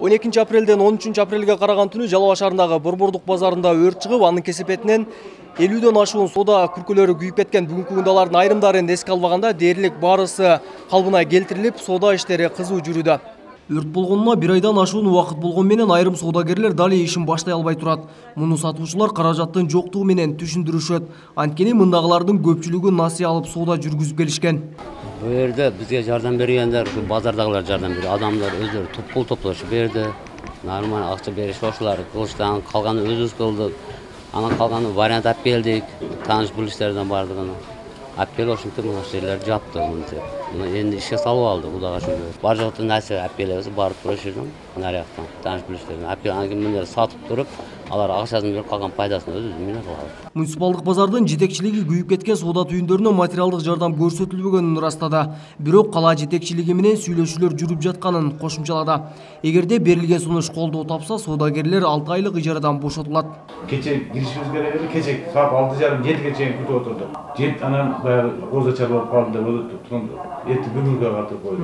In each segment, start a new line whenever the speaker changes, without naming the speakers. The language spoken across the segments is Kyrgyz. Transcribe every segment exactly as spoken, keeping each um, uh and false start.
он экинчи апрелден он үчүнчү апрелге караган түнү Жалал Абад шаарындагы Борбордук базарында өрт чыгып, анын кесепетинен элүүдөн ашуун соода күркөлөрү күйүп кеткен. Бүгүнкү күндө алардын айрымдарын эске албаганда дээрлик барысы калыбына келтирилип, соода иштери кызуу жүрүүдө. Өрт болгонуна бир айдан ашуун убакыт болгон менен айрым соодагерлер дали ишин баштай албай турат. Муну сатуучулар каражаттын жоктугу менен түшүндүрүшөт. Анткени мындагылардын көпчүлүгү насыя алып соода жүргүзүп келишкен.
Бу жерде бизге жардам бергендер, базардагылар жардам берди. Адамдар өздөрү топ-пул топлошуп берди. Нормаль акча беришип ошолар кылыштан калганын өзүбүз кылдык. Анан калганын вариант алып келдик. Тааныш билиштерден бардыгын алып келип ошентип мына жерлерди жапты. Мына энди ишке салып алды, Кудайга шүгүр. Бар жокто нерсе алып келебиз, барып турушурдум. Наряктан тааныш билиштерден алып келип, анан кийин сатып туруп, алар акчасын берип калган пайдасын өзүбүз менен кылабыз.
Муниципалдык базардын жетекчилиги күйүп кеткен соода түйүндөрүнө материалдык жардам көрсөтүлбөгөнүн ырастады. Бирок кала жетекчилиги менен сүйлөшүүлөр жүрүп жатканын кошумчалады. Эгерде берилген сунуш колдоо тапса, соодагерлер алты айлык ижарадан бошотулат.
Кече киришибиз керек эле, кече саат алты жарым жетиге чейин күтүп отурдук. Жет анан баягы козо чарбап калды деп эти бүгүнгө катып койду.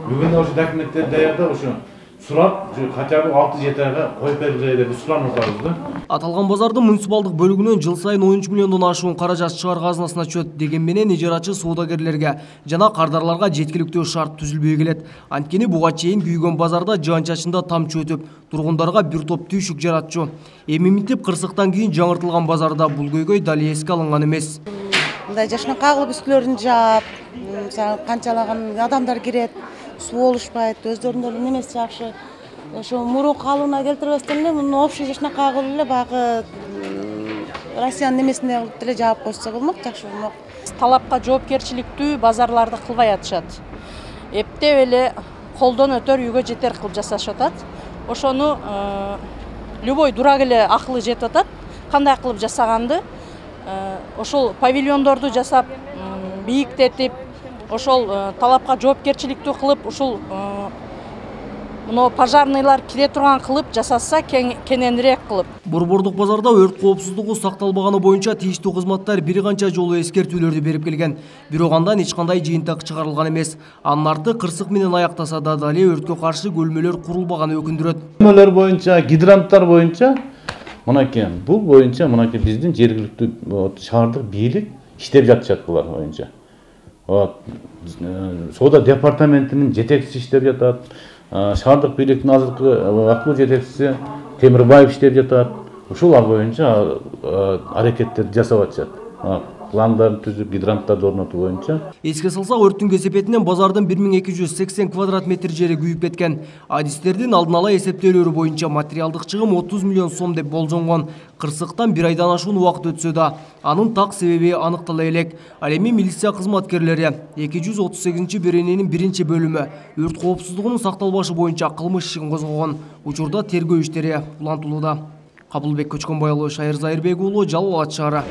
Бүгүн ошо документтер даярдап ошо сурап, хотя бы алты жети айга коюп бергиле деп суранып атабыз да.
Аталган базардын муниципалдык бөлүгүнөн жыл сайын он үч миллиондон ашуун каражат шаар казынасына түшөт. Деген менен ижарачы соодагерлерге жана кардарларга жеткиликтүү шарт түзүлбөй келет. Анткени буга чейин күйгөн базарда жаан-чачында тамчы өтүп, тургундарга бир топ түйшүк жаратчу. Эми минтип кырсыктан кийин жаңыртылган базарда бул көйгөй дали эске алынган эмес.
Мындай жашына кагылып үстүлөрүн жаап, канчалаган адамдар кирет, суу болушпайт, өздөрүнүн эле немеси жакшы. Ошо мурун калыбына келтирбестен эле муну общий жашына кагылып эле багы Россиянын немесине кылып эле жаап койсо болмок, жакшы болмок.
Талапка жоопкерчиликтүү базарларды кылбай атышат. Эптеп эле колдон өтөр, үйгө жетер кылып жасашып атат. Ошону любой дурак эле акылы жетип атат. Кандай кылып жасаганды ошол павильондорду жасап, бийиктетип, ошол талапка жоопкерчиликтүү кылып, ушул мына пожарныйлар кире турган кылып жасаса, кененирээк кылып.
Борбордук базарда өрт коопсуздугу сакталбаганы боюнча тийиштүү кызматтар бир канча жолу эскертүүлөрдү берип келген. Бирок андан эч кандай жыйынтык чыгарылган эмес. Анын арты кырсык менен аяктаса да дали өрткө каршы бөлмөлөр курулбаганы өкүндүрөт.
Бөлмөлөр боюнча, гидранттар боюнча мынакей, бул боюнча мынакей биздин жергиликтүү шаардык бийлик иштеп жатышат булар боюнча. Вот. Соода департаментинин жетекчиси иштеп жатат. Шаардык бийликтин азыркы вакыттуу жетекчиси Темирбаев иштеп жатат. Ушулар боюнча аракеттерди жасап атышат. Пландарын түзүп, гидранттарды орнотуу боюнча.
Эске салсак, өрттүн кесепетинен базардын бир миң эки жүз сексен квадрат метр жери күйүп кеткен. Адистердин алдын ала эсептөөлөрү боюнча материалдык чыгым отуз миллион сом деп болжонгон. Кырсыктан бир айдан ашуун убакыт өтсө да, анын так себеби аныктала элек. Ал эми милиция кызматкерлери эки жүз отуз сегизинчи берененин биринчи бөлүмү өрт коопсуздугунун сакталбашы боюнча кылмыш ишин козгогон. Учурда тергөө иштери улантылууда. Кабылбек Көчкөнбай уулу, Шайыр Зайырбек уулу, Жалал Абад шаары.